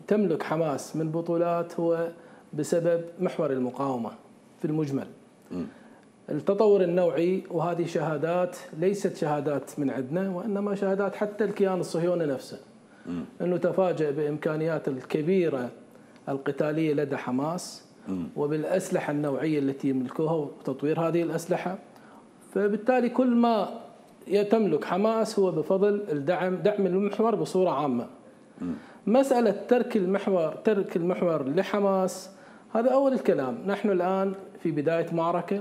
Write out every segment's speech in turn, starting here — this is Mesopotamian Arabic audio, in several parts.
تملك حماس من بطولات هو بسبب محور المقاومة في المجمل. التطور النوعي، وهذه شهادات ليست شهادات من عندنا وإنما شهادات حتى الكيان الصهيوني نفسه، أنه تفاجأ بإمكانيات الكبيرة القتالية لدى حماس وبالأسلحة النوعية التي يملكوها وتطوير هذه الأسلحة. فبالتالي كل ما تملك حماس هو بفضل دعم المحور بصورة عامة. مسألة ترك المحور لحماس هذا أول الكلام. نحن الآن في بداية معركة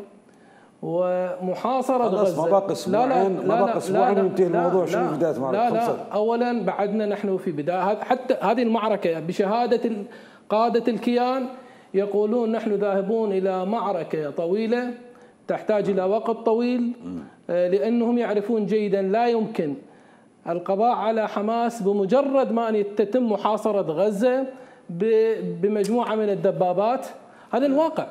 ومحاصرة غزة. ما باقي اسبوعين، ما باقي اسبوعين وينتهي الموضوع. شنو بداية معركة؟ لا أولا بعدنا نحن في بداية حتى هذه المعركة بشهادة قادة الكيان يقولون نحن ذاهبون إلى معركة طويلة تحتاج إلى وقت طويل، لأنهم يعرفون جيدا لا يمكن القضاء على حماس بمجرد ما أن تتم محاصرة غزة بمجموعة من الدبابات. هذا الواقع.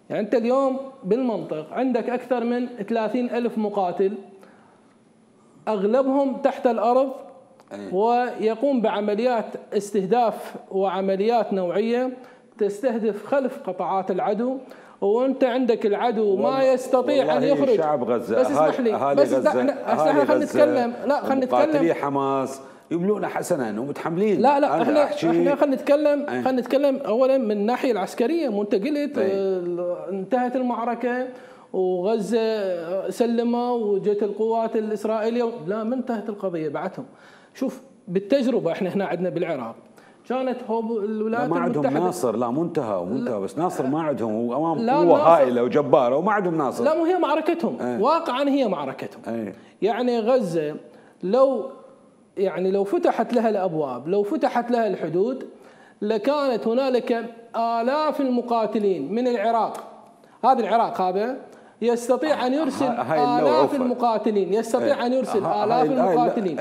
يعني أنت اليوم بالمنطق عندك أكثر من 30,000 مقاتل أغلبهم تحت الأرض ويقوم بعمليات استهداف وعمليات نوعية تستهدف خلف قطاعات العدو، وانت عندك العدو ما يستطيع ان يخرج. شعب غزه بس اسمح لي بس خلينا نتكلم. لا خلينا نتكلم. مقاتلي حماس يبلون حسنا ومتحملين. لا احنا خلينا نتكلم اولا من الناحيه العسكريه. مو انت قلت انتهت المعركه وغزه سلموا وجت القوات الاسرائيليه. لا، ما انتهت القضيه بعدهم. شوف بالتجربه احنا هنا عندنا بالعراق كانت الولايات ما عندهم المتحدة. ناصر. لا منتهى بس ناصر ما عندهم، وامام قوه هائله وجباره وما عندهم ناصر. لا، مو هي معركتهم. واقعا هي معركتهم. يعني غزه لو فتحت لها الابواب، لو فتحت لها الحدود، لكانت هنالك آلاف المقاتلين من العراق. هذا العراق هذا يستطيع ان يرسل آلاف المقاتلين، يستطيع ان يرسل آلاف المقاتلين.